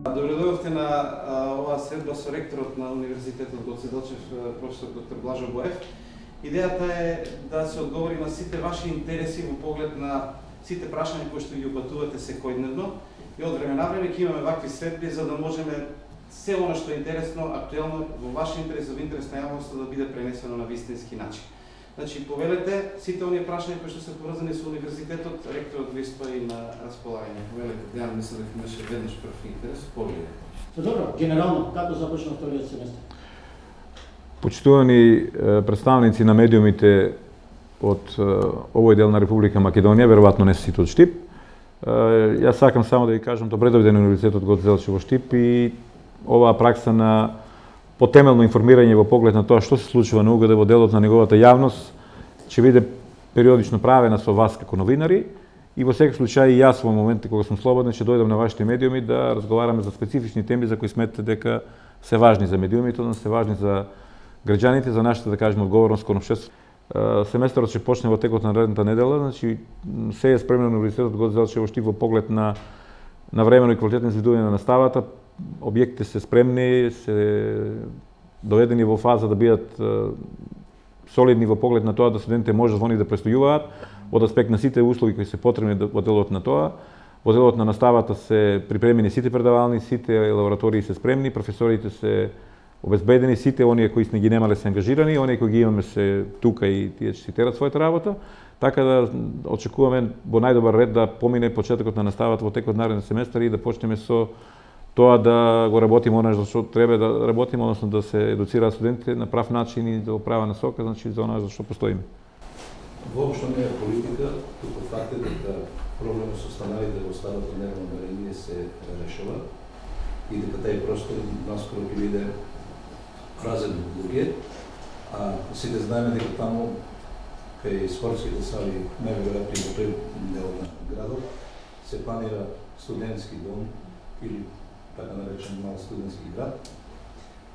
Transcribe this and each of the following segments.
Добредојдовте на оваа средба со ректорот на Универзитетот Гоце Делчев, професор доктор Блажо Боев. Идејата е да се одговори на сите ваши интереси во поглед на сите прашања кои што ги упатувате секојдневно и од време на време ќе имаме вакви средби за да можеме се она што е интересно, актуелно, во ваш интерес, во интерес на јавноста да биде пренесено на вистински начин. Значи, повелете сите оние прашања кои што се поврзани со универзитетот, ректорот ви стои на располагање. Повелете, Дејан, мислам дека имаше веднаш прв интерес, повелете. Добро, генерално, како започна вториот семестар? Почитувани представници на медиумите од овој дел на Република Македонија, веројатно не се сите од Штип. Јас сакам само да ви кажам добре дојде на Универзитетот Гоце Делчев во Штип и оваа пракса на потемелно информирање во поглед на тоа што се случува на УГД во делот на неговата јавност ќе биде периодично правена со вас како новинари и во секој случај и јас во моментите кога сум слободен ќе дојдам на вашите медиуми да разговараме за специфични теми за кои сметате дека се важни за медиумите, но се важни за граѓаните, за нашата, да кажеме, одговорност кон општеството. Семестарот ќе почне во текот на наредната недела, значи се е спремно на Универзитетот Гоце Делчев во Штип во поглед на времено и квалитетно изведување на наставата. Објектите се спремни, се доведени во фаза да бидат солидни во поглед на тоа да студентите можат во нив да престојуваат, од аспект на сите услови кои се потребни во делот на тоа. Во делот на наставата се припремени сите предавални, сите лаборатории се спремни, професорите се обезбедени, сите оние кои сме ги немале се ангажирани, оние кои ги имаме се тука и тие ќе си терат својата работа. Така да очекуваме во најдобар ред да помине почетокот на наставата во текот нареден семестар и да почнеме со тоа да го работиме она што треба да работиме, односно да се едуцираат студентите на прав начин и да права насока, значи за она за што постоиме. Воопшто не е политика, туку факт е дека проблемот со станарите во старото нервно намерение се решава и дека тај простор наскоро ќе биде празен од луѓе, а сите знаеме дека таму кај спортските сали, најверојатно и во тој дел на градот, се планира студентски дом или така наречен мал студентски град.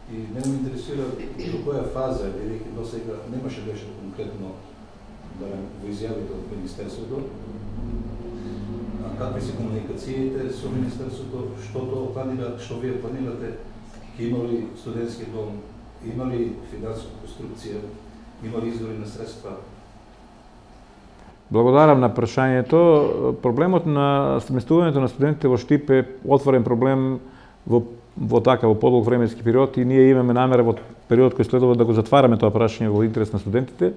И мене ме интересира до која фаза, бидејќи досега немаше беше конкретно барем во изјавите од Министерството, какви се комуникациите со Министерството, што тоа планира, што вие планирате, ќе има ли студентски дом, има ли финансова конструкција, има ли извори на средства? Благодарам на прашањето. Проблемот на сместувањето на студентите во Штип е отворен проблем во подолг временски период и ние имаме намера во период кој следува да го затвараме тоа прашање во интерес на студентите.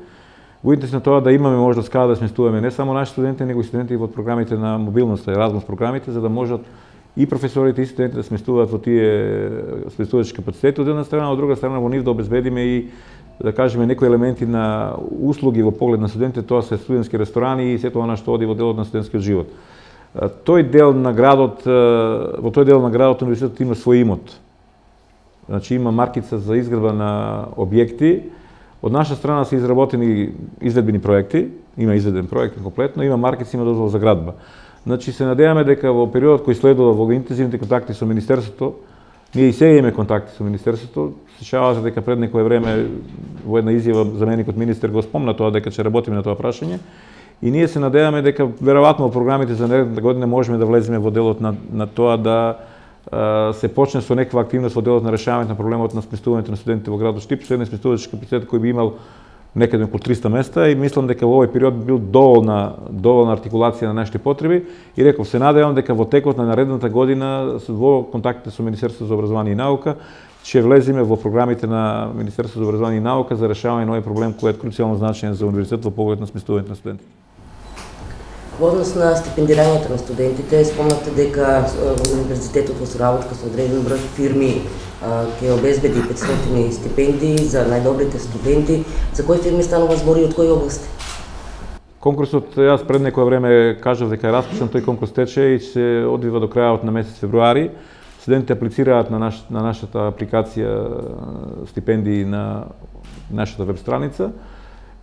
Во интерес на тоа да имаме можност каде да сместуваме не само наши студенти, него и студенти во програмите на мобилноста, Еразмус програмите, за да можат и професорите и студентите да сместуваат во тие сместувачки капацитети од една страна, од друга страна во нив да обезбедиме и да кажеме некои елементи на услуги во поглед на студентите, тоа се студентски ресторани и сето она што оди во делот на студентскиот живот. Во тој дел на градот универзитетот има свој имот. Значи има маркица за изградба на објекти. Од наша страна се изработени изведбени проекти, има изведен проект комплетно, има маркици, има дозвола за градба. Значи се надеваме дека во периодот кој следува во интензивните контакти со Министерството, ние и сега имаме контакти со Министерството, сечавате дека пред некое време во една изјава заменикот министер го спомна тоа дека ќе работиме на тоа прашање и ние се надеваме дека веројатно во програмите за наредната година можеме да влеземе во делот на тоа да се почне со некаква активност во делот на решавањето на проблемот на сместувањето на студентите во градот Штип, со еден сместувачки капацитет кој би имал некаде околу 300 места и мислам дека во овој период бил доволна артикулација на нашите потреби и реков се надевам дека во текот на наредната година во контактите со Министерството за образование и наука ќе влеземе во програмите на Министерството за образование и наука за решавање на овој проблем кој е круцијално значаен за универзитетот во поглед на сместувањето на студентите. Во однос на стипендирањето на студентите, спомнате дека универзитетот во соработка со одреден број фирми ќе обезбеди 500 стипендии за најдобрите студенти. За кои фирми станува збор и од кои области? Конкурсот, јас пред некое време кажав дека е распишан, тој конкурс тече и се одвива до крајот на месец февруари. Студентите аплицираат на нашата апликација стипендии на нашата веб страница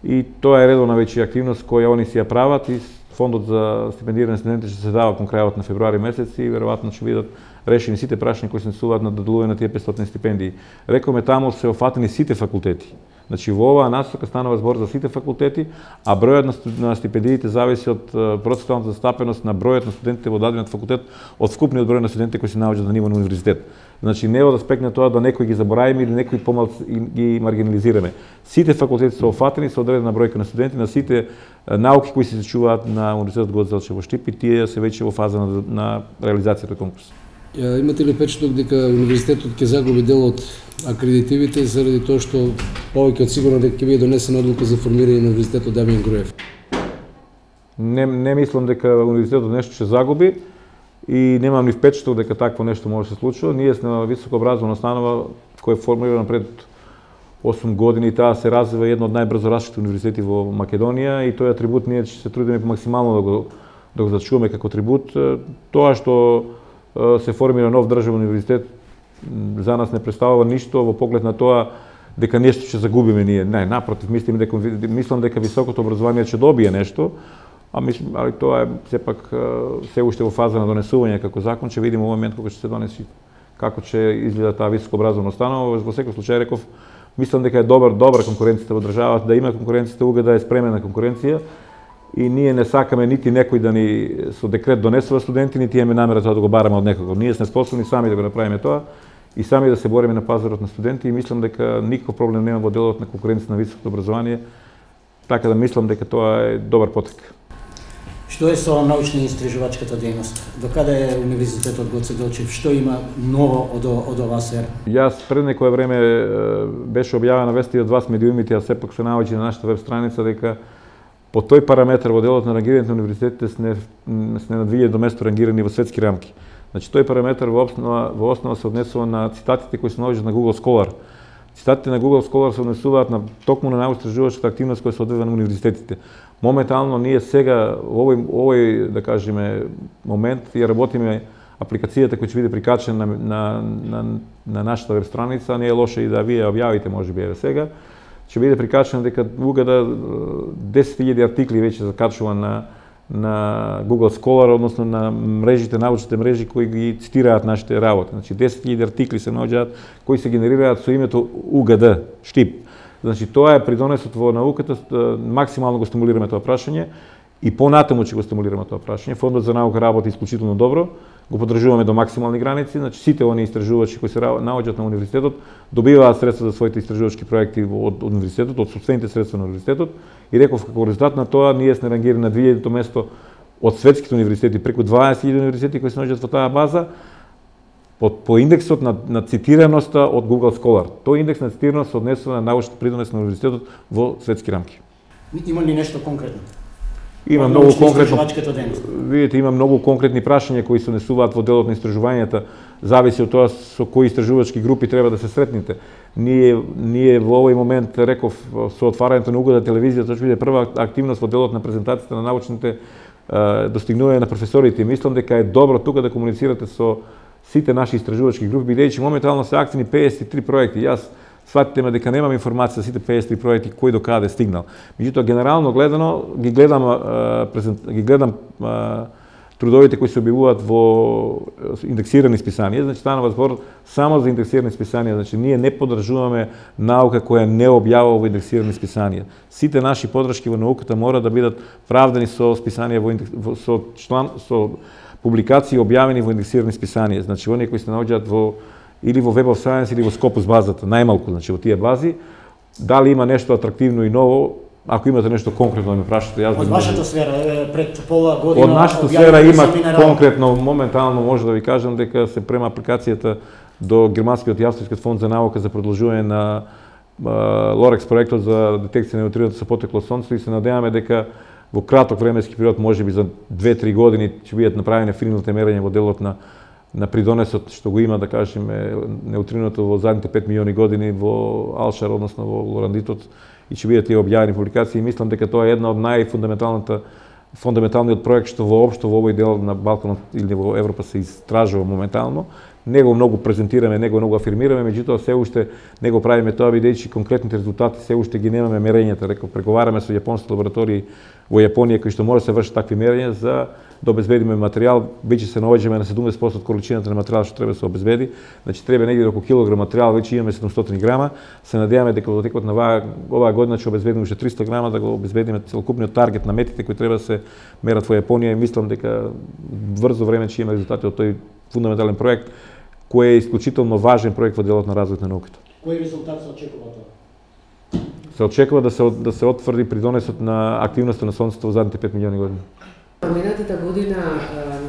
и тоа е редовна веќе активност која они си ја прават и фондот за стипендирање студенти ќе се дава кон крајот на февруари месец и веројатно ќе бидат решени сите прашања кои се насуваат на доделување на тие 500 стипендии. Рековме таму се офатени сите факултети. Значи во оваа насока станува збор за сите факултети, а бројот на стипендиите зависи од процентуалната застапеност на бројот на студентите во дадениот факултет од вкупниот број на студентите кои се наоѓаат на ниво на универзитет. Значи не од аспект на тоа да некои ги забораваме или некои помалку ги маргинализираме. Сите факултети се офатени со одредена бројка на студенти на сите науки кои се изучуваат на Универзитетот Гоце Делчев во Штип и тие се веќе во фаза на реализацијата конкурс. Имате ли впечаток дека универзитетот ќе загуби дел од акредитивите заради тоа што повеќе од сигурно дека ќе биде донесена одлука за формирање на Универзитетот Дамјан Груев? Не мислам дека универзитетот нешто ќе загуби и немам ни впечаток дека такво нешто може да се случува. Ние сме високообразована установа која е формирана пред 8 години и таа се развива едно од најбрзо растеќите универзитети во Македонија и тој атрибут ние ќе се трудиме максимално да го зачуваме како атрибут. Тоа што се формира нов државен универзитет за нас не представува ништо во поглед на тоа дека нешто ќе загубиме ние. Не, напротив, мислам дека високото образование ќе добие нешто, али тоа е сепак се уште во фаза на донесување како закон, ќе видиме во момент кога ќе се донеси како ќе изгледа таа високообразована установа. Во секој случај реков, мислам дека е добра конкуренцијата во државата, да има конкуренцијата, уга да е спремена конкуренција и ние не сакаме нити некој да ни со декрет донесува студенти, нити имаме намера тоа да го бараме од некого. Ние сме способни сами да го направиме тоа и сами да се бориме на пазарот на студенти и мислам дека никаков проблем нема во делот на конкуренција на високото образование, така да мислам дека тоа е добар потек. Што е со научно-истражувачката дејност? До каде е Универзитетот Гоце Делчев? Што има ново од оваа сфера? Јас пред некое време беше објавена вести од вас медиумите, а сепак се наоѓа на нашата веб страница дека по тој параметар во делот на рангирањето на универзитетите сме на 2000 место рангирани во светски рамки. Значи тој параметар во основа се однесува на цитатите кои се наоѓаат на Google Scholar. Цитатите на Google Scholar се однесуваат на токму на научно-истражувачката активност која се одвива на универзитетите. Моментално ние сега во овој да кажеме момент ја работиме апликацијата која ќе биде прикачена на нашата веб страница, не е лошо и да вие објавите можеби еве сега. Ќе биде прикачена дека угада 10.000 артикли веќе закачува на Google Scholar, односно на мрежите, научните мрежи кои ги цитираат нашите работи. Значи 10.000 артикли се наоѓаат кои се генерираат со името УГД, Штип. Значи тоа е придонесот во науката, максимално го стимулираме тоа прашање и понатаму ќе го стимулираме тоа прашање. Фондот за наука работи исклучително добро, го поддржуваме до максимални граници, значи сите оние истражувачи кои се наоѓаат на универзитетот добиваат средства за своите истражувачки проекти од универзитетот, од сопствените средства на универзитетот и реков како резултат на тоа ние сме рангирани на 2000-то место од светските универзитети, преку 20.000 универзитети кои се наоѓаат во таа база по индексот на цитираноста од Google Scholar. Тој индекс на цитираност се однесува на научната придонес на универзитетот во светски рамки. Има ли нешто конкретно? Има многу конкретно. Видите, има многу конкретни прашања кои се однесуваат во делот на истражувањата, зависи од тоа со кои истражувачки групи треба да се сретнете. Ние во овој момент реков со отварањето на Угода телевизија, тоа ќе биде прва активност во делот на презентацијата на научните достигнувања на професорите. Мислам дека е добро тука да комуницирате со сите наши истражувачки групи, бидејќи моментално се активни 53 проекти. Јас сватите ме дека немам информација за сите 53 проекти кој до каде стигнал. Меѓутоа генерално гледано ги гледам трудовите кои се објавуваат во индексирани списанија, значи станува збор само за индексирани списанија, значи ние не поддржуваме наука која не објавува во индексирани списанија. Сите наши поддршки во науката мора да бидат правдани со списанија со публикации објавени во индексирани списанија, значи оние кои се наоѓаат или во Web of Science или во Scopus базата, најмалку, значи во тие бази. Дали има нешто атрактивно и ново, ако имате нешто конкретно да ме прашате, јас од вашата сфера пред пола година од нашата сфера има конкретно моментално може да ви кажам дека се према апликацијата до германскиот и австријскиот фонд за наука за продолжување на Лорекс проектот за детекција на неутринота со потекло од сонцето и се надеваме дека во краток временски период, можеби за 2-3 години, ќе бидат направени финалните мерења во делот на придонесот што го има, да кажеме, неутриното во задните 5 милиони години во Алшар, односно во Лорандитот, и ќе бидат тие објавени публикации. Мислам дека тоа е една од фундаменталниот проект што воопшто во овој дел на Балканот или во Европа се истражува моментално. Не го многу презентираме, не го многу афирмираме, меѓутоа се уште не го правиме тоа, бидејќи конкретните резултати се уште ги немаме мерењата. Реков, преговараме со јапонските лаборатории во Јапонија кои што може да се вршат такви мерења за да обезбедиме материјал, веќе се наоѓаме на 70% од количината на материјал што треба да се обезбеди. Значи треба негде околу килограм материјал, веќе имаме 700 грама. Се надеваме дека во текот на оваа година ќе обезбедиме уште 300 грама да го обезбедиме целокупниот таргет на метите кои треба да се мерат во Јапонија и мислам дека брзо време ќе имаме резултати од тој фундаментален проект кој е исклучително важен проект во делот на развојот на науката. Кој резултат се очекува тоа? Се очекува да се отврди придонесот на активноста на Сонцето во задните 5 милиони години. Минатата година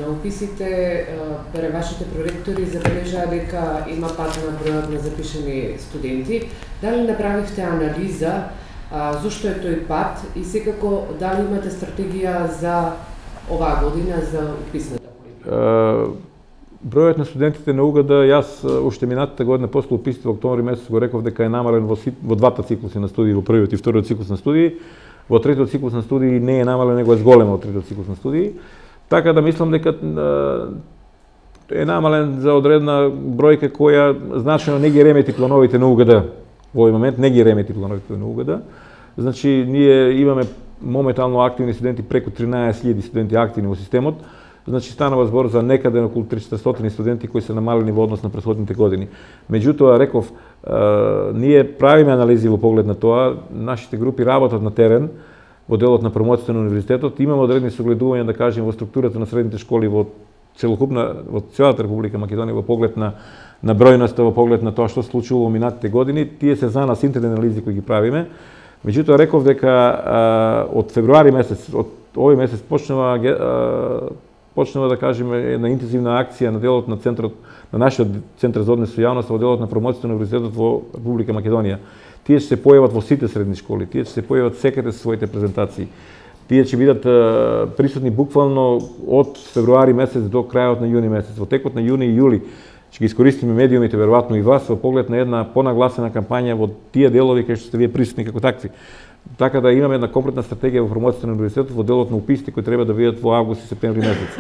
на уписите вашите проректори забележаа дека има пад на бројот на запишани студенти. Дали направивте анализа зошто е тој пад и секако дали имате стратегија за оваа година за уписната политика? Бројот на студентите на УГД, јас уште минатата година после уписите во октомври месец го реков дека е намален во двата циклуси на студии, во првиот и вториот циклус на студии. Во третиот циклус на студии не е намален, него е зголем од третиот циклус на студии. Така да мислам дека е намален за одредна бројка која значено не ги ремети плановите на УГД. Во овој момент не ги ремети плановите на УГД. Значи, ние имаме моментално активни студенти, преку 13.000 студенти активни во системот. Значи, станува збор за некаде околу 300 студенти кои се намалени во однос на претходните години. Меѓутоа, реков, ние правиме анализи во поглед на тоа, нашите групи работат на терен, во делот на промоцијата на универзитетот, имаме одредни согледувања, да кажем, во структурата на средните школи во целата Република Македонија, во поглед на бројноста, во поглед на тоа што се случило во минатите години. Тие се за нас интерни анализи кои ги правиме. Меѓутоа, реков дека од февруари месец, од овој месец почнува да кажеме една интензивна акција на делот на центарот, на нашиот центар за однос со јавноста во делот на промоцијата на универзитетот во Република Македонија. Тие ќе се појават во сите средни школи, тие ќе се појават секаде со своите презентации. Тие ќе бидат присутни буквално од февруари месец до крајот на јуни месец. Во текот на јуни и јули ќе ги искористиме медиумите, веројатно и вас, во поглед на една понагласена кампања во тие делови кај што сте вие присутни како такви. Така да имаме една комплетна стратегија во промоцијата на универзитетот во делот на уписите кои треба да бидат во август и септември месец.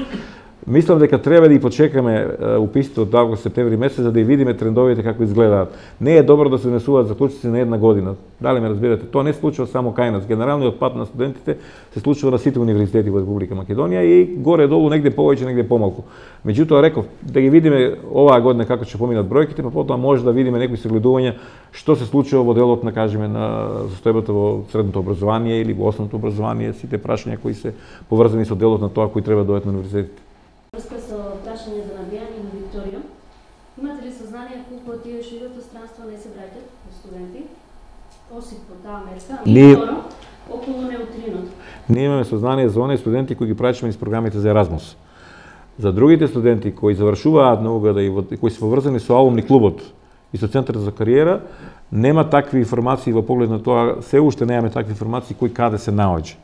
Мислам дека треба да ги почекаме уписите од август и септември месец за да видиме трендовите како изгледаат. Не е добро да се донесуваат заклучоци на една година. Дали ме разбирате? Тоа не се случува само кај нас. Генералниот пад на студентите се случува на сите универзитети во Република Македонија и горе-долу негде повеќе, негде помалку. Меѓутоа, реков, да ги видиме оваа година како ќе поминат бројките, па потоа може да видиме некои согледувања што се случува во делот на, кажеме, на состојбата во средното образование или во основното образование, сите прашања кои се поврзани со делот на тоа кои треба да дојдат на универзитетите. Врска со прашање за набијање на Викторија, имате ли сознание колку од тие што идат во странство не се враќаат во студенти, осим по таа мерка? И второ, околу неутринот. Ние имаме сознание за оние студенти кои ги праќаме низ програмите за Еразмус. За другите студенти кои завршуваат на УГД и кои се поврзани со алумни клубот и со центарот за кариера, нема такви информации во поглед на тоа, се уште немаме такви информации кој каде се наоѓа.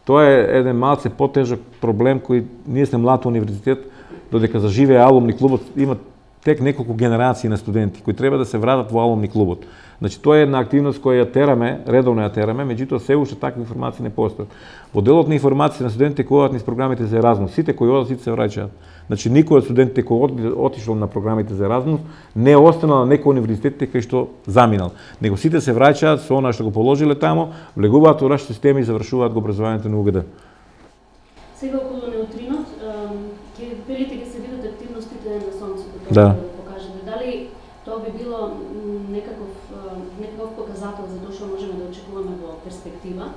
Тоа е еден малце потежок проблем кој ние сме млад универзитет, додека заживее алумни клубот, има тек неколку генерации на студенти кои треба да се вратат во алумни клубот. Значи тоа е една активност која ја тераме, редовно ја тераме, меѓутоа се уште такви информации не постојат. Во делот на информации на студентите кои одат низ програмите за Еразмус, сите кои одат, сите се враќаат. Значи никој од студентите кои отишол на програмите за Еразмус не останал на некој универзитетите кај што заминал, него сите се враќаат со она што го положиле тамо, влегуваат во нашите системи и завршуваат го образованието на УГД. Сега околу неутринот, ќе велите ќе се видат активностите на Сонцето, да покажете. Дали тоа би било некаков показател за тоа што можеме да очекуваме во перспектива?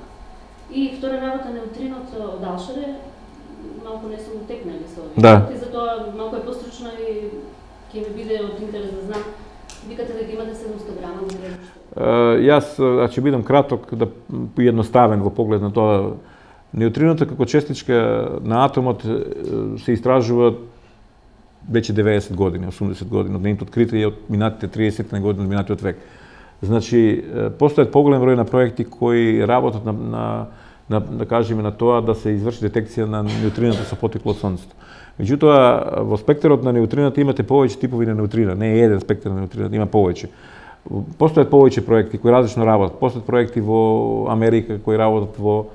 И втора работа, неутринот од Алшаре, малку не сум утекнали со овие. Да. И затоа малку е постручно и ќе ми биде од интерес да знам. Викате дека имате 700 грама во гребиште. Јас ќе бидам краток, да поедноставен во поглед на тоа. Неутриното како честичка на атомот се истражува веќе 90 години, 80 години, од нейното откритие од минатите 30 години од минатиот век. Значи, постојат поголем број на проекти кои работат да кажеме на тоа да се изврши детекција на неутриното со потекло од Сонцето. Меѓутоа, во спектарот на неутрината имате повеќе типови на неутрина, не е еден спектар на неутрината, има повеќе. Постојат повеќе проекти кои различно работат. Постојат проекти во Америка кои работат во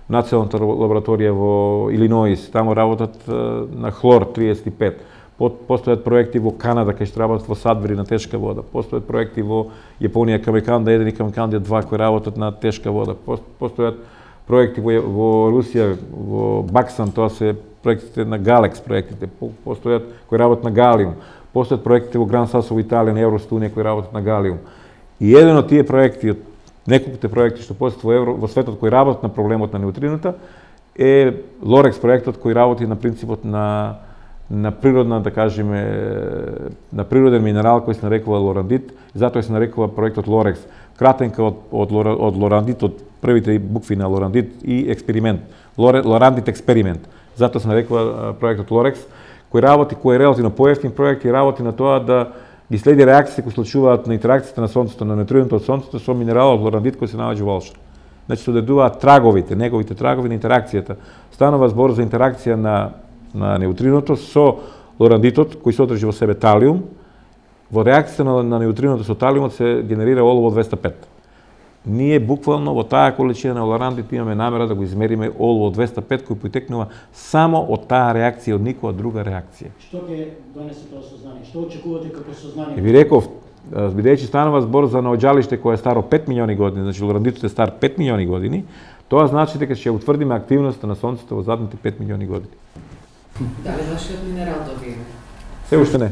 Националната лабораторија во Илиноис, таму работат на хлор 35. Постојат проекти во Канада кај што работат во Садбери на тешка вода. Постојат проекти во Јапонија, Камеканда 1 и Камеканда 2 кои работат на тешка вода. Постојат проекти во Русија, во Баксан, тоа се проектите на Галекс проектите, постојат кои работат на Галиум, постојат проектите во Гран Сасо во Италија на Евростунија кои работат на Галиум. И еден од тие проекти, од неколките проекти што постојат во светот кои работат на проблемот на неутрината е Лорекс проектот кој работи на принципот на природна, да кажеме, на природен минерал кој се нарекува лорандит, затоа се нарекува проектот Лорекс. Кратенка од лорандит, од првите букви на лорандит и експеримент. Лорандит експеримент. Затоа се нарекува проектот Лорекс, кој работи, кој е релативно поевтин проект и работи на тоа да ги следи реакциите кои случуваат на интеракцијата на сонцето, на неутриното од сонцето со минералот лорандит кој се наоѓа во Олша. Значи се одредуваат траговите, неговите трагови на интеракцијата. Станува збор за интеракција на неутриното со лорандитот кој содржи во себе талиум. Во реакцијата на неутриното со талиумот се генерира олово 205. Ние буквално во таа количина на лорандит имаме намера да го измериме олово 205 кој потекнува само од таа реакција, од никоја друга реакција. Што ќе донесе тоа сознание? Што очекувате како сознание? Ви реков, бидејќи станува збор за наоѓалиште кое е старо 5 милиони години, значи лорандитот е стар 5 милиони години, тоа значи дека ќе утврдиме активноста на сонцето во задните 5 милиони години. Дали вашиот минерал добиеме? Се уште не.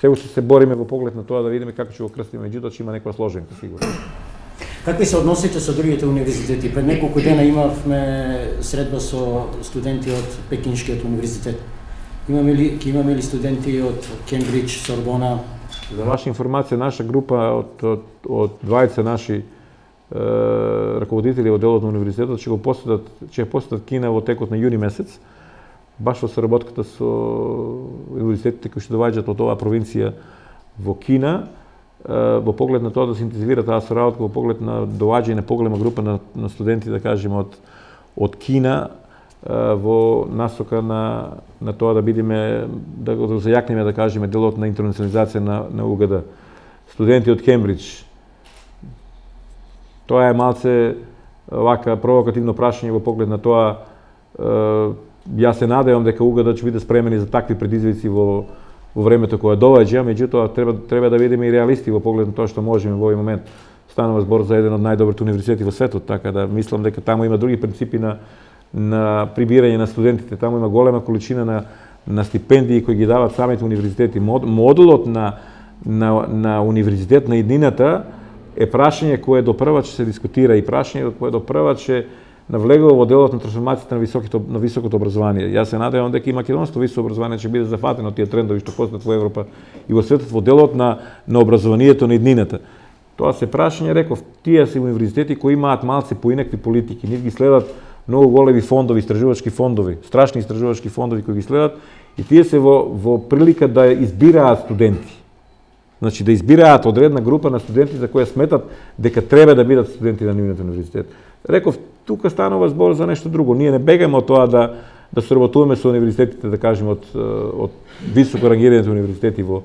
Се уште се бориме во поглед на тоа да видиме како ќе го крстиме, меѓутоа ќе има некоја сложенка сигурно. Какви се односите со другите универзитети? Пред неколку дена имавме средба со студенти од Пекинскиот универзитет. Имаме ли студенти од Кембридж, Сорбона? За ваша информација, наша група од 20 наши раководители во делот на универзитетот ќе посетат Кина во текот на јуни месец, баш во соработката со универзитетите кои што доаѓаат од оваа провинција во Кина, во поглед на тоа да се интензивира таа соработка, во поглед на доаѓање на поголема група на студенти, да кажеме, од Кина, во насока на тоа да бидеме, да го зајакнеме, да кажеме, делот на интернационализација на УГД. Студенти од Кембридж. Тоа е малце вака провокативно прашање во поглед на тоа. Јас се надевам дека УГД ќе биде спремени за такви предизвици во времето кое доаѓа, меѓутоа треба да бидеме и реалисти во поглед на тоа што можеме во овој момент. Станува збор за еден од најдобрите универзитети во светот, така да мислам дека таму има други принципи на прибирање на студентите. Таму има голема количина на стипендии кои ги дават самите универзитети. Модулот на универзитет на иднината е прашање кое допрва ќе се дискутира и прашање кое допрва ќе навлегува во делот на трансформацијата на високото образование. Јас се надевам дека и македонското високо образование ќе биде зафатено од тие трендови што постојат во Европа и во светот во делот на образованието на иднината. Тоа се прашање, реков, тие се универзитети кои имаат малце поинакви политики, нив ги следат многу големи фондови, истражувачки фондови, страшни истражувачки фондови кои ги следат и тие се во прилика да избираат студенти. Значи да избираат одредна група на студенти за кои сметат дека треба да бидат студенти на нивниот универзитет. Реков, тука станува збор за нешто друго. Ние не бегаме од тоа да соработуваме со универзитетите, да кажеме, од високо рангираните универзитети во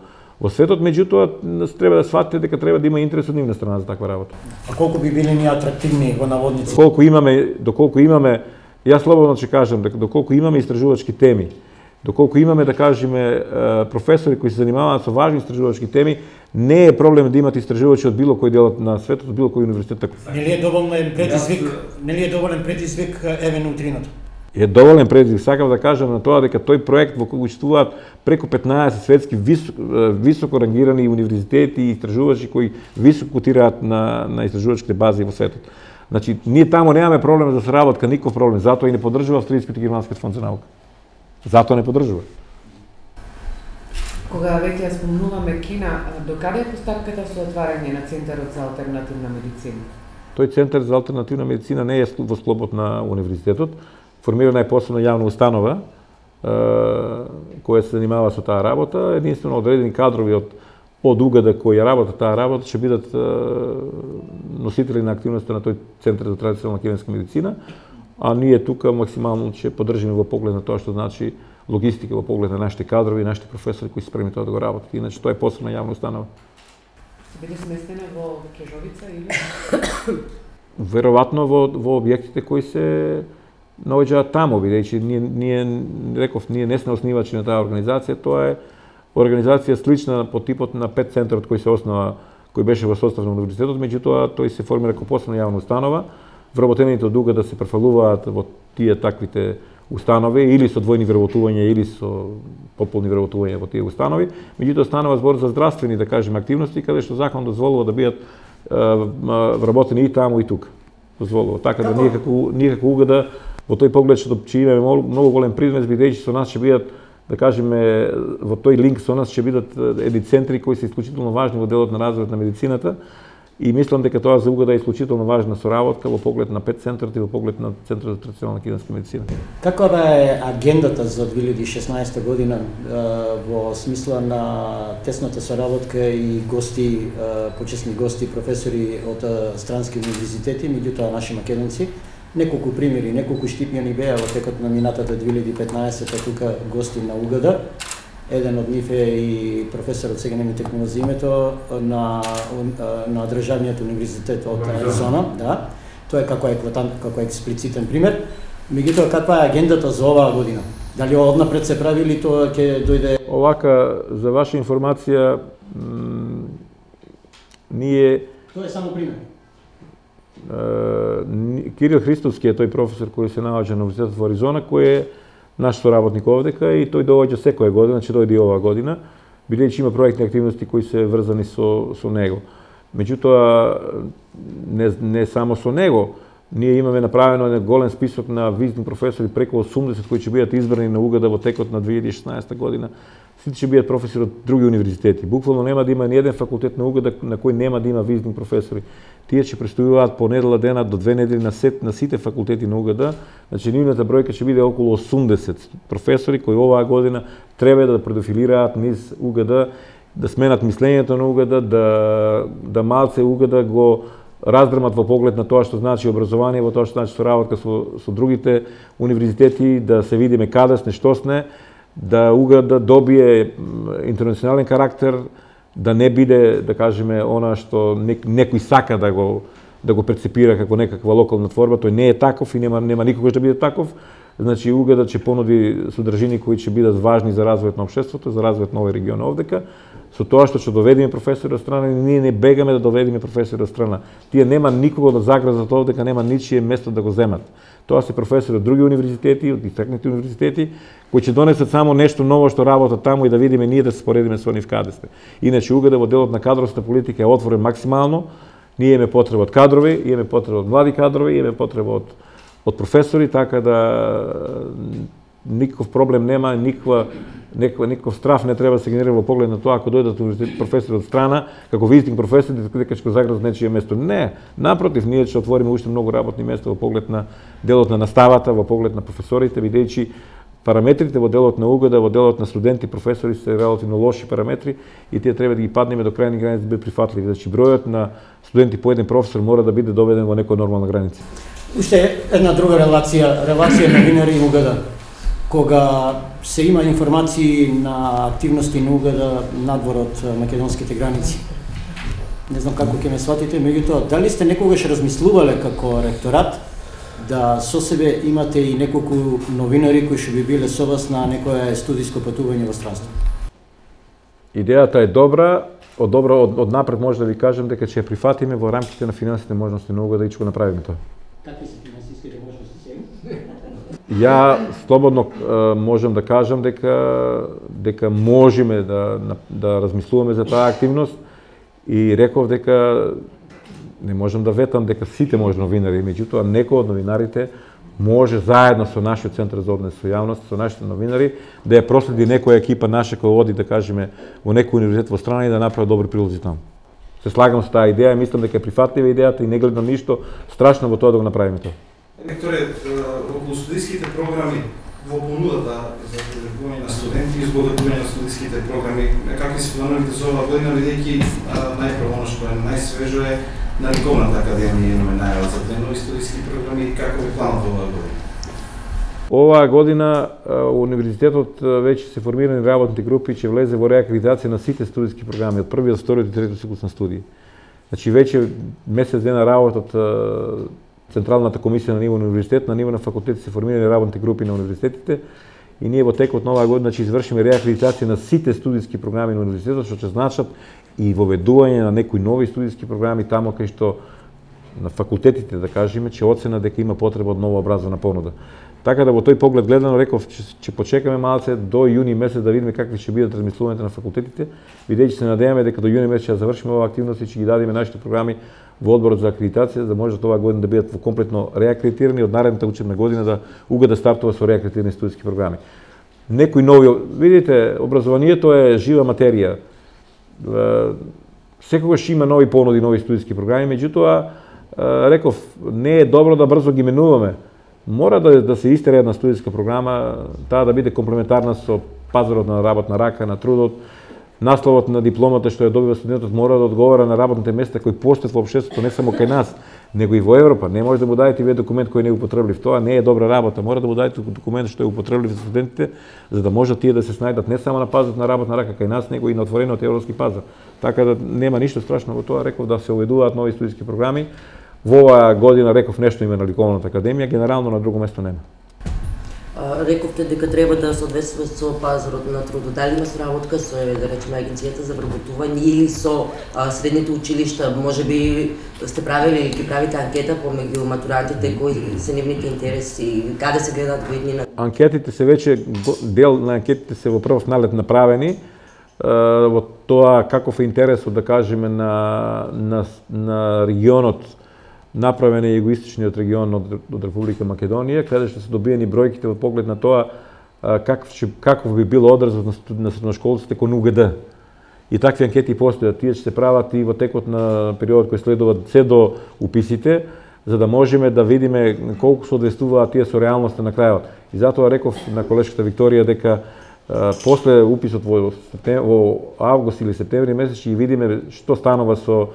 светот, меѓутоа треба да сватите дека треба да има интерес од нивна страна за таква работа. А колку би биле ние атрактивни во наводници? Доколку имаме, јас слободно ќе кажам дека доколку имаме истражувачки теми, доколку имаме, да кажеме, професори кои се занимаваат со важни истражувачки теми, не е проблем да имате истражувачи од било кој дел на светот, од било кој универзитет. Нели е доволен предизвик еве неутриното? Е доволен предизвик. Сакам да кажам на тоа дека тој проект во кој учествуваат преку 15 светски високо рангирани универзитети и истражувачи кои високо котираат на истражувачките бази во светот. Значи, ние таму немаме проблем за соработка, никаков проблем, затоа и не поддржува Австралискиот и Германскиот фонд за наука. Затоа не поддржува. Кога веќе спомнуваме Кина, докаде е постапката со отварање на Центарот за алтернативна медицина? Тој Центар за алтернативна медицина не е во склопот на универзитетот. Формирана е посебна јавна установа која се занимава со таа работа. Единствено одредени кадрови од УГД кои работат таа работа ќе бидат носители на активноста на тој Центар за традиционална кинеска медицина, а ние тука максимално ќе поддржиме во поглед на тоа што значи логистика, во поглед на нашите кадрови и нашите професори кои се спремни тоа да го работат. Иначе тоа е посебна јавна установа. Ќе биде сместена во Кежовица или? Веројатно во објектите кои се наоѓаат таму, бидејќи ние не сме основачи на таа организација, тоа е организација слична по типот на 5 центарот кој се основа, кој беше во состав на универзитетот, меѓутоа тој се формира како посебна јавна установа. Вработените од УГД да се префалуваат во тие таквите установи или со двојни вработувања или со пополни вработувања во тие установи, меѓутоа станува збор за здравствени, да кажеме, активности каде што закон дозволува да бидат вработени и таму и тука. Дозволува. Така да ние како УГД во тој поглед што имаме многу голем приднес, бидејќи со нас ќе бидат, да кажеме, во тој линк со нас ќе бидат едни центри кои се исклучително важни во делот на развојот на медицината. И мислам дека тоа за УГД е исклучително важна соработка во поглед на ПЕТ центарот и во поглед на Центарот за традиционална киданска медицина. Каква е агендата за 2016 година во смисла на тесната соработка и гости, почесни гости, професори од странски универзитети, меѓутоа наши македонци? Неколку примери, неколку штипјани беа во текот на минатата 2015 тука гости на УГД. Еден од нив е и професорот, сега не ми текнува за името, на Државниот универзитет од Аризона, да. Тоа е како еклатант, како експлицитен пример. Меѓутоа, каква е агендата за оваа година? Дали однапред се прави или тоа ќе дојде? Овака, за ваша информација, ние... Тоа е само пример. Кирил Христовски е тој професор кој се наоѓа на Универзитетот во Аризона, кој е наш соработник овдека и тој доаѓа секоја година, значи дојде и оваа година, бидејќи има проектни активности кои се врзани со него. Меѓутоа, не само со него, ние имаме направено еден голем список на визни професори, преку 80 кои ќе бидат избрани на УГД во текот на 2016 година. Сите ќе бидат професори од други универзитети. Буквално нема да има ни еден факултет на УГД на кој нема да има визни професори. Тие ќе престојуваат по недела дена до 2 недели на сите факултети на УГД. Значи, нивната бројка ќе биде околу 80 професори кои оваа година треба да предофилираат низ УГД, да сменат мислењето на УГД, да малце УГД го раздрмат во поглед на тоа што значи образование, во тоа што значи соработка со другите универзитети, да се видиме каде сме, што сме, да УГД добие интернационален карактер, да не биде, да кажеме, она што некој сака да го прецепира како некаква локална творба, тој не е таков и нема никогаш да биде таков. Значи УГД ќе понуди содржини кои ќе бидат важни за развојот на општеството, за развојот на овој регион овдека. Со тоа што ќе доведеме професори од страна, ние не бегаме да доведеме професори од страна. Тие нема никого да загрозат овдека, нема ничие место да го земат. Тоа се професори од други универзитети, од истакнати универзитети, кои ќе донесат само нешто ново што работат таму и да видиме ние да се споредиме со нив каде сте. Иначе УГД во делот на кадровска политика е отворен максимално. Ние имаме потреба од кадрови, имаме потреба од млади кадрови, имаме потреба од професори, така да никаков проблем нема, никаков страф не треба да се генерира во поглед на тоа ако дојдат професори од страна, како визитинг професори, дека ќе го загрозат нечие место. Не, напротив, ние ќе отвориме уште многу работни места во поглед на делот на наставата, во поглед на професорите, бидејќи параметрите во делот на УГД, во делот на студенти, професори се релативно лоши параметри и тие треба да ги паднеме до крајни граници да бидат прифатливи. Значи бројот на студенти по еден професор мора да биде доведен во некоја нормална граница. Уште една друга релација новинари и УГД. Кога се има информации на активности на УГД надвор од македонските граници. Не знам како ќе ме сватите, меѓутоа, дали сте некогаш размислувале како ректорат да со себе имате и неколку новинари кои што би биле со вас на некое студиско патување во странство? Идејата е добра, од напред може да ви кажем дека ќе ја прифатиме во рамките на финансите можности на УГД и ќе го направиме тоа. Какви се финансиските можности сега? Ја слободно можам да кажам дека можеме да размислуваме за таа активност и реков дека не можам да ветам дека сите може новинари, меѓутоа некој од новинарите може заедно со нашиот центар за однос со јавност, со нашите новинари, да ја проследи некоја екипа наша која оди, да кажеме, во некој универзитет во страна и да направи добри прилози таму. Се слагам со таа идеја, мислам дека е прифатлива идејата и не гледам ништо страшно во тоа да го направиме тоа. Ректоре, околу студиските програми во понудата за придобивање на студенти и изготвување на студиските програми, какви се плановите за оваа година, бидејќи најпрво она што е најсвежо е на Ликовната академија имаме најава за нови студиски програми, како е планот оваа година? Оваа година универзитетот веќе се формирани работните групи и ќе влезе во реакредитација на сите студиски програми од првиот, вториот и третиот циклус на студии. Значи веќе месец дена работат Централната комисија на ниво на универзитет, на ниво на факултети се формирани работни групи на универзитетите и ние во текот на оваа година ќе извршиме реакредитација на сите студиски програми на универзитетот, што ќе значат и воведување на некои нови студиски програми таму кај што на факултетите, да кажеме, ќе оцена дека има потреба од нова образовна понуда. Така да во тој поглед гледано реков ќе почекаме малце до јуни месец да видиме какви ќе бидат размислувањата на факултетите, бидејќи се надеваме дека до јуни месец ќе завршиме оваа активност и ќе ги дадеме нашите програми во одборот за акредитација, за да може оваа година да бидат во комплетно реакредитирани, од наредната учебна година да уга да стартува со реакредитирани студентски програми. Некои нови, видите, образованието е жива материја. Секогаш има нови понуди, нови студентски програми, меѓутоа реков не е добро да брзо ги менуваме. Мора да се истере една студентска програма, таа да биде комплементарна со пазарот на работна рака, на трудот. Насловот на дипломата што ја добива студентот мора да одговара на работните места кои постојат во општеството, не само кај нас, него и во Европа. Не може да му дадете вие документ кој не е употреблив. Тоа не е добра работа. Мора да му дадете документ што е употреблив за студентите, за да можат тие да се снајдат не само на пазарот на работна рака кај нас, него и на отворениот европски пазар. Така да нема ништо страшно во тоа, реков да се уведуваат нови студентски програми. Во оваа година реков нешто има на Ликовната академија, генерално на друго место нема. Рековте дека треба да се одвесува со пазарот на трудот. Дали има соработка со, да речеме, агенцијата за вработување или со средните училишта? Можеби сте правили или ќе правите анкета помеѓу матурантите кои се нивните интереси, каде се гледаат во иднина? Анкетите се веќе, дел на анкетите се во прв налет направени, во тоа каков е интересот, да кажеме, на регионот, направен е југоисточниот регион од Република Македонија, каде што се добиени бројките во поглед на тоа каков би бил одразот на средношколците кон УГД. И такви анкети постојат, тие ќе се прават и во текот на периодот кој следува се до уписите, за да можеме да видиме колку се одвестуваат тие со реалноста на крајот. И затоа реков на колешката Викторија дека после уписот во август или септември месец ќе видиме што станува со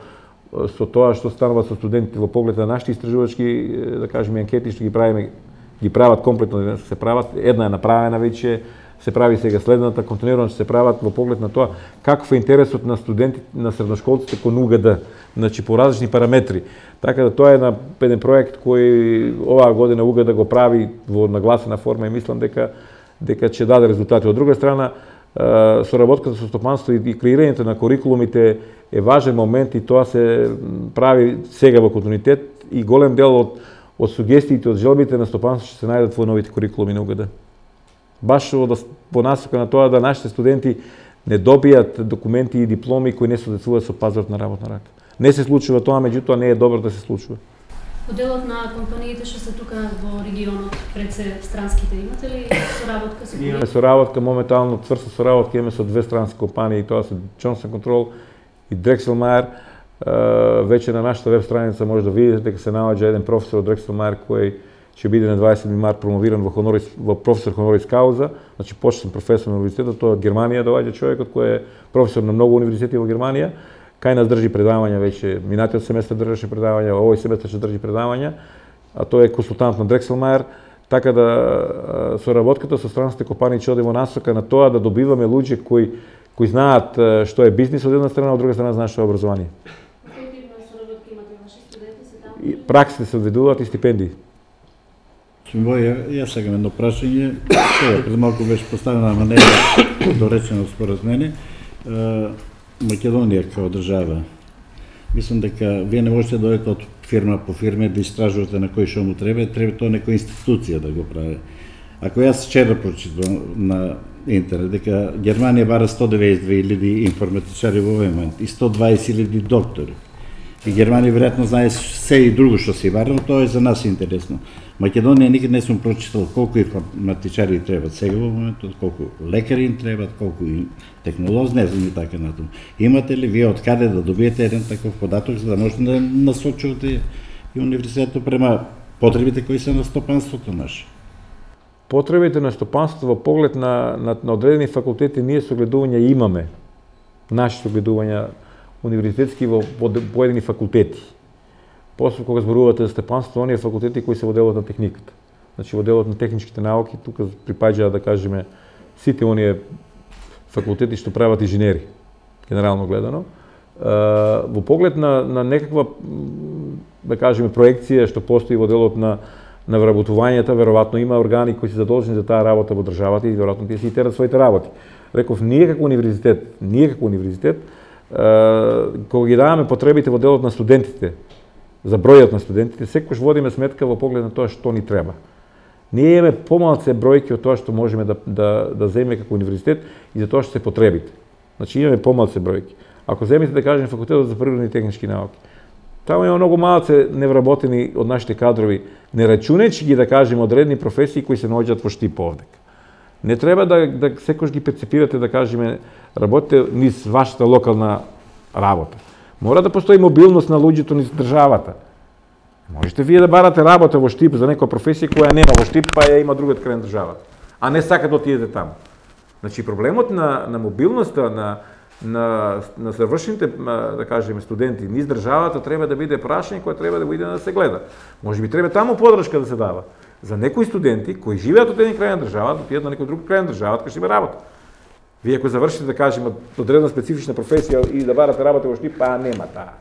тоа што станува со студентите во поглед на нашите истражувачки, да кажеме, анкети што ги прават комплетно, се прават, една е направена веќе, се прави сега следната, континуирано се прават во поглед на тоа каков е интересот на студентите, на средношколците кон УГД, значи по различни параметри. Така да тоа е еден проект кој оваа година УГД го прави во нагласена форма и мислам дека ќе даде резултати. Од друга страна, соработката со стопанство и креирањето на курикулумите е важен момент и тоа се прави сега во континуитет и голем дел од сугестиите, од желбите на стопанство ќе се најдат во новите курикулуми на УГД. Баш по насока на тоа да нашите студенти не добијат документи и дипломи кои не соодветствуваат со пазарот на работна рака. Не се случува тоа, меѓутоа не е добро да се случува. Делот на компаниите што се тука во регионот, пред се странските, имате ли соработка со кои? Имаме соработка, моментално цврста соработка имаме со две странски компании, тоа се Johnson Control и Drexel Meyer. Веќе на нашата веб страница може да видите дека се наоѓа еден професор од Drexel Meyer кој ќе биде на 20 март промовиран во професор honoris causa, значи почетен професор на универзитетот, тоа од Германија доаѓа човекот кој е професор на многу универзитети во Германија. Кај нас држи предавања веќе, минатиот семестар држеше предавања, овој семестар ќе држи предавања, а тој е консултант на Drexel Meyer, така да соработката со странските компании ќе оди во насока на тоа да добиваме луѓе кои знаат што е бизнис од една страна, од друга страна знаат што е образование. И праксите се одведуваат и стипендии. Јас сега едно прашање, пред малку беше поставена манера доречено според мене. Македонија како држава, мислам дека вие не можете да дојдете од фирма по фирма да истражувате на кој што му треба тоа некоја институција да го прави. Ако јас вчера прочитам на интернет дека Германија бара 192.000 информатичари во овој момент и 120.000 доктори. И Германија веројатно знае се и друго што се бара, но тоа е за нас интересно. Македонија никад не сум прочитал колку информатичари требат сега во моментот, колку лекари им требат, колку технолози, не знам и така натаму. Имате ли вие од каде да добиете еден таков податок за да можете да насочувате и универзитетот према потребите кои се на стопанството наше? Потребите на стопанството во поглед на одредени факултети ние согледувања имаме. Наши согледувања универзитетски во поедини факултети. После кога зборувате за стопанство, оние факултети кои се во делот на техниката. Значи во делот на техничките науки, тука припаѓаат да кажеме сите оние факултети што прават инженери, генерално гледано. Во поглед на некаква, да кажеме, проекција што постои во делот на вработувањето, веројатно има органи кои се задолжени за таа работа во државата и веројатно тие си терат своите работи. Реков, ние како универзитет, кога ги даваме потребите во делот на студентите, за бројот на студентите, секогаш водиме сметка во поглед на тоа што ни треба. Ние имаме помалце бројки од тоа што можеме да земеме како универзитет и за тоа што се потребите. Значи имаме помалце бројки. Ако земите да кажем факултетот за природни и технички науки, таму има многу малце невработени од нашите кадрови, не рачунајќи ги да кажем одредни професии кои се наоѓаат во Штип овдека. Не треба да секој ги перцепирате да кажеме работите низ вашата локална работа. Мора да постои мобилност на луѓето низ државата. Можете вие да барате работа во Штип за некоја професија која нема во Штип, па ја има другиот крај на државата, а не сака да отидете таму. Значи проблемот на мобилноста на завршените, да кажеме, студенти низ државата треба да биде прашање кое треба да биде да се гледа. Можеби треба таму подршка да се дава за некои студенти кои живеат од еден крај на државата, отидат на некој друг крај на државата кај што има работа. Вие ако завршите, да кажеме, одредена специфична професија и да барате работа во Штип, па нема таа.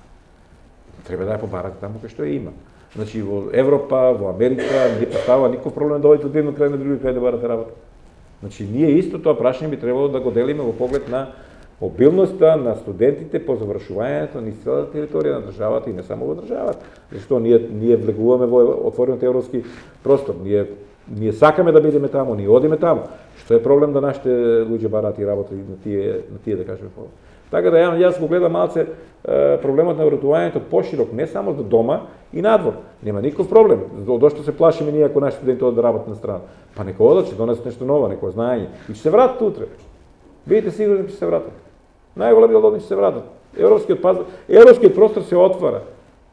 Треба да ја побарате таму кај што ја има. Значи во Европа, во Америка не представува никаков проблем да одите од еден крај на други крај да барате работа. Значи ние исто тоа прашање би требало да го делиме во поглед на мобилноста на студентите по завршувањето низ целата територија на државата и не само во државата. Зашто ние влегуваме во отворениот европски простор. Ние сакаме да бидеме таму, ние одиме таму. Што е проблем да нашите луѓе бараат и работат на тие да кажеме по. Така да јас го гледам малце проблемот на вратувањето поширок, не само за дома и надвор. Нема никаков проблем. Дошто се плашиме ние ако наши студенти одат да работат на страна. Па нека одат, ќе донесат нешто ново, некој знаење и ќе се вратат утре. Бидете сигурни ќе се вратат. Најголем дел од нив ќе се вратат. Европскиот простор се отвара.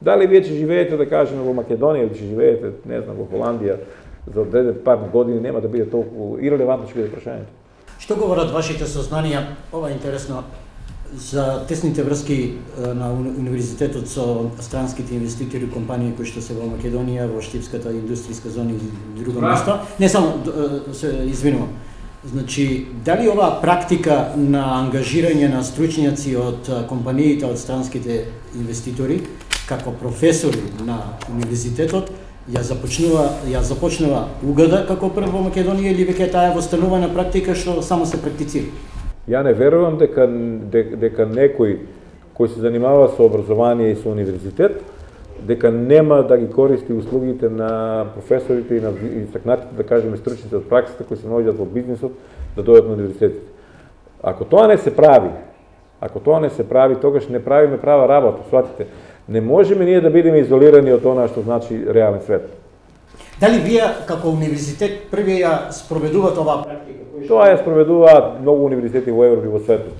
Дали вие ќе живеете, да кажеме, во Македонија или ќе живеете, не знам, во Холандија за одреден пар години, нема да биде толку ирелевантно ќе биде прашањето. Што говорат вашите сознанија, ова е интересно, за тесните врски на универзитетот со странските инвеститори, компании кои што се во Македонија, во Штипската индустријска зона и друго место? Не само, се извинувам. Значи, дали оваа практика на ангажирање на стручњаци од компаниите, од странските инвеститори, како професори на универзитетот, ја започнува угада како прв во Македонија или веќе таа е востанувана практика што само се практицира? Ја не верувам дека некој кој се занимава со образование и со универзитет, дека нема да ги користи услугите на професорите и на истакнатите, да кажеме, стручните од праксата кои се наоѓаат во бизнисот, да дојдат на универзитетите. Ако тоа не се прави, тогаш не правиме права работа, сватите. Не можеме ние да бидеме изолирани од она што значи реален свет. Дали вие како универзитет први ја спроведувате оваа практика? Тоа ја спроведуваат многу универзитети во Европа и во светот.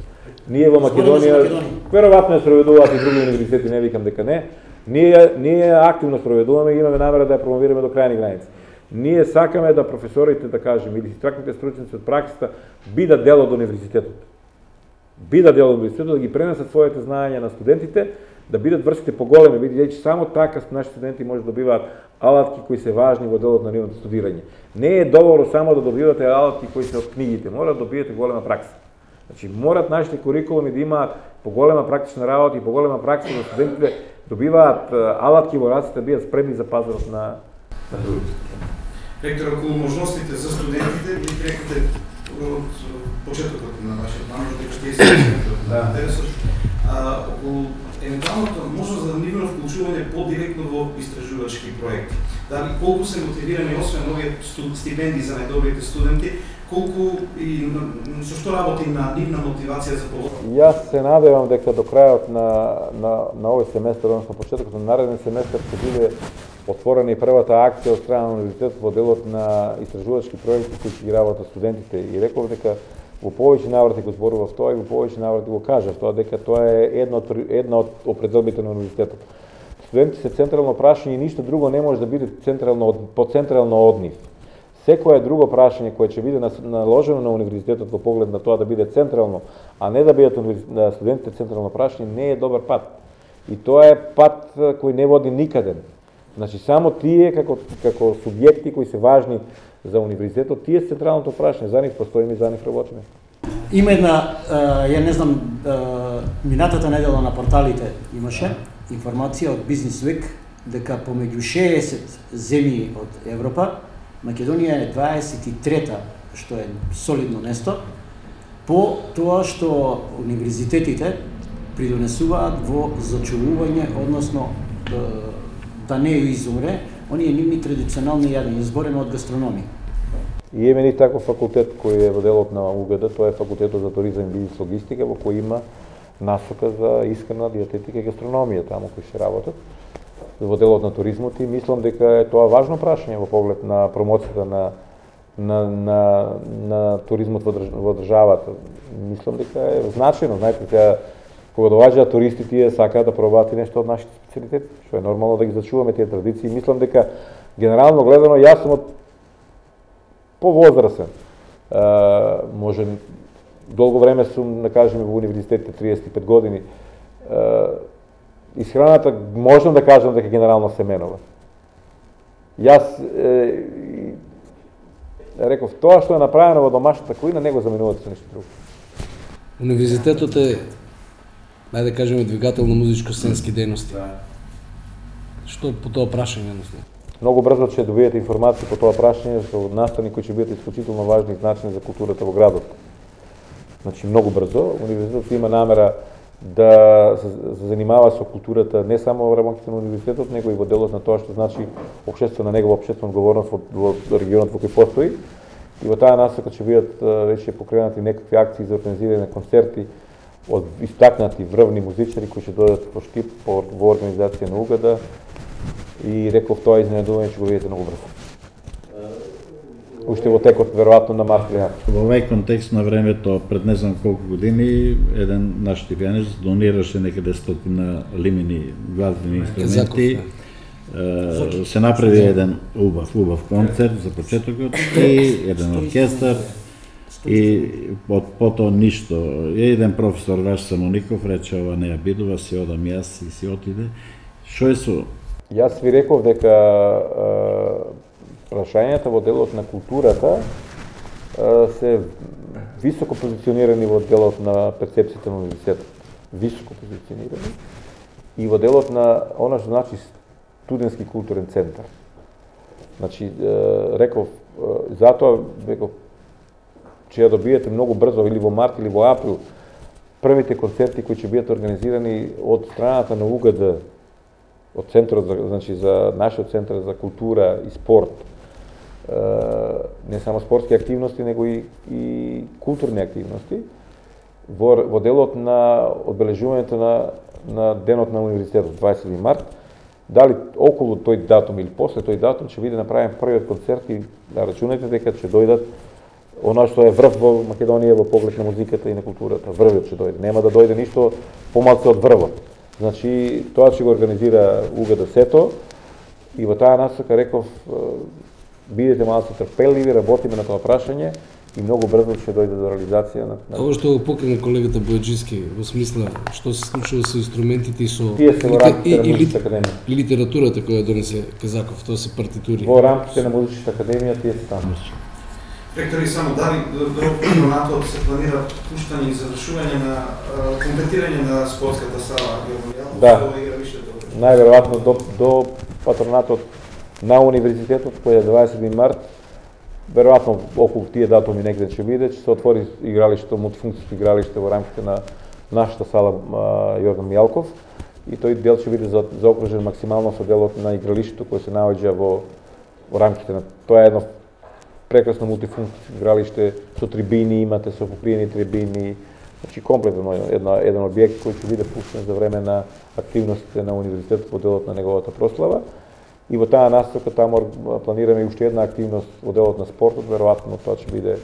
Ние во Македонија, веројатно ја спроведуваат и други универзитети, не викам дека не. Ние активно спроведуваме и имаме намера да ја промовираме до крајни граници. Ние сакаме да професорите, да кажем, или истакнатите стручници од праксата бидат дел од универзитетот. Да ги пренесат своите знаења на студентите, да бидат врските поголеми, бидејќи само така нашите студенти може да добиваат алатки кои се важни во делот на нивното студирање. Не е доволно само да добивате алатки кои се од книгите, мора да добиете голема пракса. Значи, морат нашите курикулуми да имаат поголема практична работа и поголема пракса за студентите добиваат алатки во раците, да бидат спремни за пазарот на другите. Ректор, околу можностите за студентите, ви рекате од почетокот на вашиот план, дека ќе се интересот, околу евентуалната можност за нивно вклучување подиректно во истражувачки проекти. Дали колку се мотивирани, освен овие стипендии за најдобрите студенти, колку и со што работи на нивна мотивација за полага? Јас се надевам дека до крајот на овој семестар, односно почетокот на нареден семестар, ќе биде отворена и првата акција од страна на универзитетот во делот на истражувачки проекти кои ќе ги работат студентите. И реков дека во повеќе наврати го зборував тоа и во повеќе наврати го кажав тоа, дека тоа е една од определбите на универзитетот. Студентите се централно прашање и ништо друго не може да биде поцентрално од нив. Секое друго прашање кое ќе биде наложено на универзитетот во поглед на тоа да биде централно, а не да бидат студентите централно прашање, не е добар пат. И тоа е пат кој не води никаде. Значи само тие како субјекти кои се важни за универзитетот, тие се централното прашање, за нив постоиме и за нив работиме. Има една, ја не знам, минатата недела на порталите имаше информација од Business Week дека помеѓу 60 земји од Европа, Македонија е 23-та, што е солидно место, по тоа што универзитетите придонесуваат во зачувување, односно да не изумре оние нивни традиционални јадења, изборено од гастрономија. И имаме ни таков факултет кој е во делот на УГД, тоа е факултетот за туризам и бизнес логистика, во кој има насока за искрена диететика и гастрономија таму кои се работат во делот на туризмот и мислам дека е тоа важно прашање во поглед на промоцијата на туризмот во државата. Мислам дека е значајно, знаете, сега кога доаѓаат туристи, тие сакаат да пробаат и нешто од нашите специјалитети, што е нормално да ги зачуваме тие традиции. Мислам дека генерално гледано јас сум повозрасен. Може долго време сум, да кажеме, во универзитетите 35 години. Исхраната можам да кажам дека генерално се менува. Јас реков, тоа што е направено во домашната кујна, него заменувате со нешто друго. Универзитетот е, најде да кажеме, двигател на музичко-сценски дејности. Што по тоа прашање, едноставно? Многу брзо ќе добиете информации по тоа прашање со настани кои ќе бидат исклучително важни и значени за културата во градот. Значи, многу брзо. Универзитетот има намера да се занимава со културата не само во рамките на универзитетот, него и во делот на тоа што значи општествена негова општествена одговорност во регионот во кој постои. И во таа насока ќе бидат веќе покренати некакви акции за организирање на концерти од истакнати врвни музичари кои ќе дојдат во Штип во организација на УГД. И реков тоа изненадување ќе го видите многу брзо. Уште во текот веројатно на март или април. Во овај контекст на времето пред не знам колку години еден наш типјанец донираше некаде 100 лимини глазбени инструменти. Се направи еден убав концерт за почетокот и еден оркестар и потоа ништо. Еден професор Ваш Самоников рече ова не ја бидува, си одам јас и си отиде. Што е со? Јас ви реков дека прашањата во делот на културата се високо позиционирани во делот на перцепцијата на универзитетот. Високо позиционирани. И во делот на она што значи студентски културен центар. Значи, реков, затоа реков, че ја добиете многу брзо или во март или во април првите концерти кои ќе бидат организирани од страната на УГД, од центарот значи за нашиот центар за култура и спорт. Не само спортски активности, него и културни активности во делот на одбележувањето на денот на универзитетот 20 март. Дали околу тој датум или после тој датум ќе биде направен првиот концерт и да рачунајте дека ќе дојдат она што е врв во Македонија во поглед на музиката и на културата. Врвот ќе дојде. Нема да дојде ништо помалку од врвот. Значи, тоа ќе го организира УГД сето и во таа насока реков бидете малку трпеливи, работиме на тоа прашање и многу брзо ќе дојде до реализација на Ова што го покрена колегата Бојаджиски во смисла што се случува со инструментите и со тие се во рамките на Музичката академија. И литературата која донесе Казаков, тоа се партитури. Во рамките на Музичката академија тие се таму. Ректори, само дали до патронатот се планира пуштање и завршување на комплетирање на спортската сала Да. Најверојатно до патронатот на универзитетот кој е 20 март, веројатно околу тие датуми негде ќе биде, ќе се отвори игралиште, мултифункцијско игралиште во рамките на нашата сала Јордан Мијалков и тој дел ќе биде заокружен максимално со делот на игралиштето кој се наоѓа во рамките на тоа е едно прекрасно мултифункцијско игралиште со трибини, имате со покриени трибини, значи комплетно еден објект кој ќе биде пуштен за време на активностите на универзитетот во делот на неговата прослава. И во таа насока таму планираме уште една активност во делот на спортот, веројатно тоа ќе биде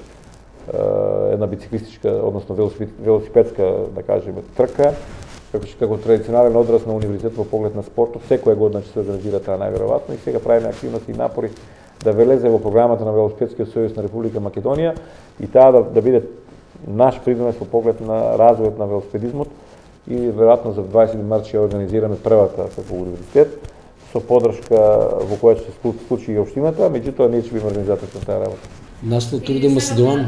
една бициклистичка, односно велосипедска, да кажеме, трка, како традиционален одраз на универзитетот во поглед на спортот, секоја година ќе се организира таа најверојатно и сега правиме активности и напори да влезе во програмата на Велосипедскиот сојуз на Република Македонија и таа да биде наш придонес во поглед на развојот на велосипедизмот и веројатно за 20 март ќе организираме првата како универзитет со поддршка во која ќе се случи и општината, меѓутоа ние ќе биме организатори на таа работа. Наслов Турде Македон.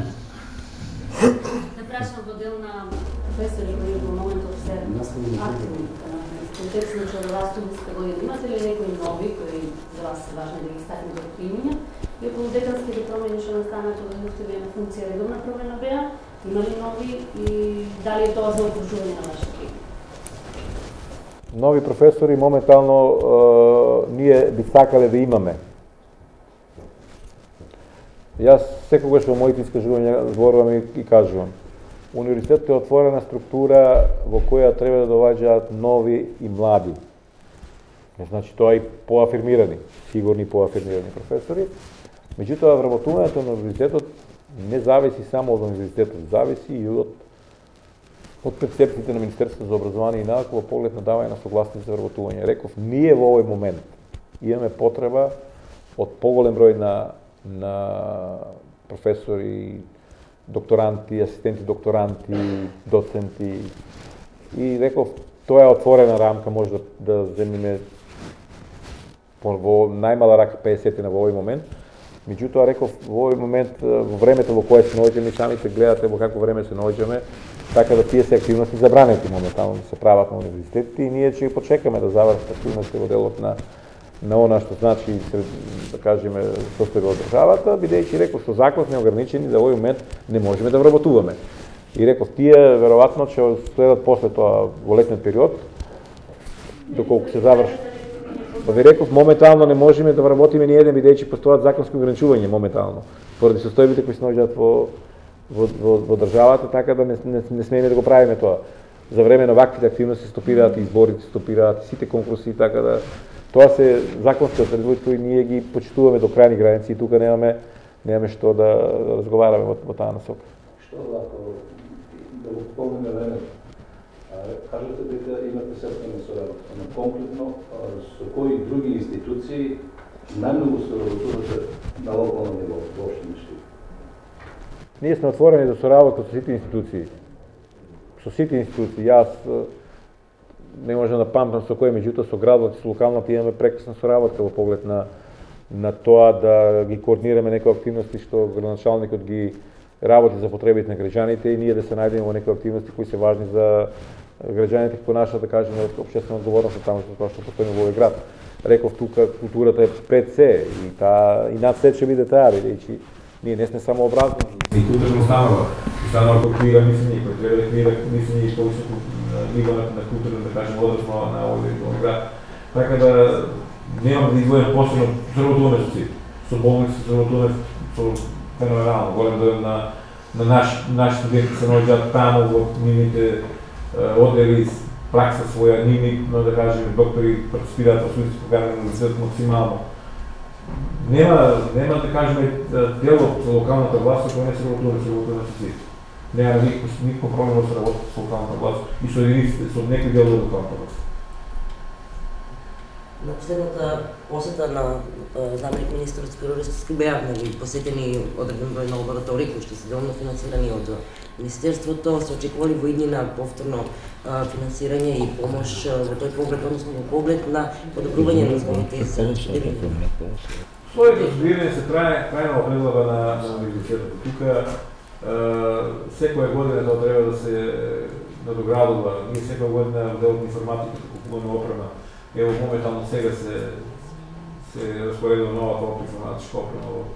Да прашам во дел на професори кои во моментот се активни в контекст на членова студентска година. Имате ли некои нови кои за вас се важни да ги стакнете од примења? И околу деканските промени што настанат од дојдовте на функција редовна промена беа, има ли нови и дали е тоа за окружување на вашите екипи? нови професори моментално ние би сакале да имаме. Јас секогаш во моите искажувања зборувам и кажувам. Универзитетот е отворена структура во која треба да доаѓаат нови и млади. Значи тоа и поафирмирани, сигурни поафирмирани професори. Меѓутоа вработувањето на универзитетот не зависи само од универзитетот, зависи и од перцепциите на Министерството за образование и наука во поглед на давање на согласност за вработување. Реков, ние во овој момент имаме потреба од поголем број на професори, докторанти, асистенти докторанти, доценти. И реков, тоа е отворена рамка, може да земиме во најмала рака 50 во овој момент. Меѓутоа, реков, во овој момент, во времето во кое се наоѓаме, самите гледате во какво време се наоѓаме, така да тие се активности забранети моментално да се прават на универзитетите и ние ќе почекаме да завршат активности во делот на она што значи, да кажеме, состојба од државата, бидејќи реков што закон не ограничени да во овој момент не можеме да вработуваме. И реков, тие веројатно ќе следат после тоа во летниот период, доколку се заврши. Па ви реков, моментално не можеме да вработиме ни еден, бидејќи постојат законски ограничувања моментално, поради состојбите кои се наоѓаат во државата, така да не смееме да го правиме тоа. За време на ваквите активности стопираат изборите, стопираат сите конкурси, така да тоа се законски одредби кои ние ги почитуваме до крајни граници и тука немаме што да разговараме во таа насока. Што вако да го помине време? Кажете дека имате сестра соработка, но конкретно со кои други институции најмногу се работувате на локално ниво, во општина Штип? Ние сме отворени за соработка со сите институции. Со сите институции. Јас не можам да памтам со кој, меѓутоа со градот и со локалната имаме прекрасна соработка во поглед на тоа да ги координираме некои активности што градоначалникот ги работи за потребите на граѓаните и ние да се најдеме во некои активности кои се важни за граѓаните по наша, да кажеме, општествена одговорност таму тоа што постои во овој град. Реков тука културата е пред се и над се ќе биде таа, бидејќи ние не сме само образовани. И културно станува култура мислење, кој треба да креира мислење и повисоко ниво на култура, да кажем, односно на овој град. Така да немам да издвојам посебно соработуваме со сите. Со болници соработуваме со феноменално голем дел на наши студенти се наоѓаат таму во нивните одели, пракса своја, нивни, да кажем, доктори партиципираат во студентски програми на универзитетот максимално. Нема да кажеме дел од локалната власт кој не се работува со сите. Нема никаков проблем да се работи со локалната власт и со единиците, со некој дел од локалната власт. На последната посета на заместник министерот Спиро Ристовски беа посетени одреден број на лаборатории кои што се делно финансирани од Министерството, се очекували во иднина повторно финансирање и помош во тој поглед, односно во поглед на подобрување на условите за студирање. Условите за студирање се трајно определува на универзитетот. Тука секоја година тоа треба да се надоградува. Ние секоја година во делот на информатиката купуваме опрема. Ево моментално сега се распоредува новата информатичка опрема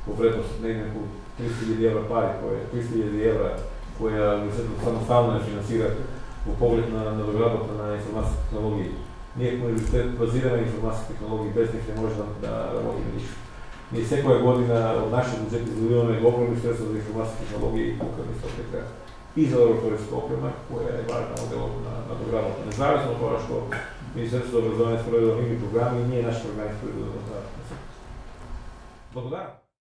во вредност негде околу 300.000 евра пари, 300.000 евра која университетот самоставно не финансира во поглед на надоградата на информатски технологии. Ние како университет базираме информатски технологии, без них не може да работиме ништо. Ние секоја година од нашите буџети издвојуваме огромни средства за информатски технологии и тука мислам дека и за лабораторијска опрема која е важна во делот на надоградата. Независно од тоа што Министерството за образование спроведува нивни програми и ние нашите програми спроведуваме. Благодарам.